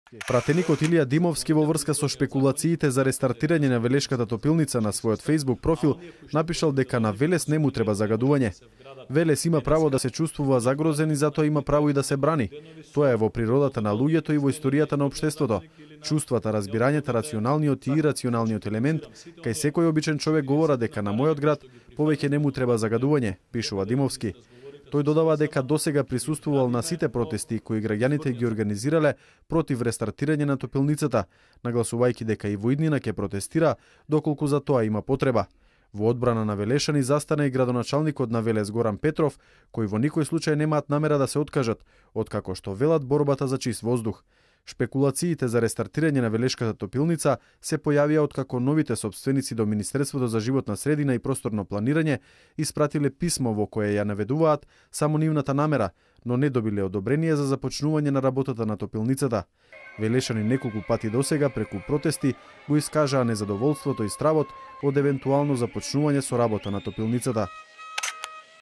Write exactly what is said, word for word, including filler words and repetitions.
Пратеникот Илија Димовски во врска со шпекулациите за рестартирање на Велешката топилница на својот Facebook профил напишал дека на Велес не му треба загадување. Велес има право да се чувствува загрозен и затоа има право и да се брани. Тоа е во природата на луѓето и во историјата на општеството. Чувствата, разбирањето, рационалниот и ирационалниот елемент, кај секој обичен човек говорат дека на мојот град повеќе не му треба загадување, пишува Димовски. Тој додава дека досега присуствувал на сите протести кои граѓаните ги организирале против рестартирање на топилницата, нагласувајќи дека и во иднина ќе протестира доколку за тоа има потреба. Во одбрана на Велешани застана и градоначалникот на Велес Горан Петров, кои во никој случај немаат намера да се откажат, откако што велат борбата за чист воздух. Шпекулациите за рестартирање на Велешката топилница се појавија откако новите собственици до Министерството за животна средина и просторно планирање испратиле писмо во кое ја наведуваат само нивната намера, но не добиле одобрение за започнување на работата на топилницата. Велешани неколку пати досега преку протести го искажаа незадоволството и стравот од евентуално започнување со работа на топилницата.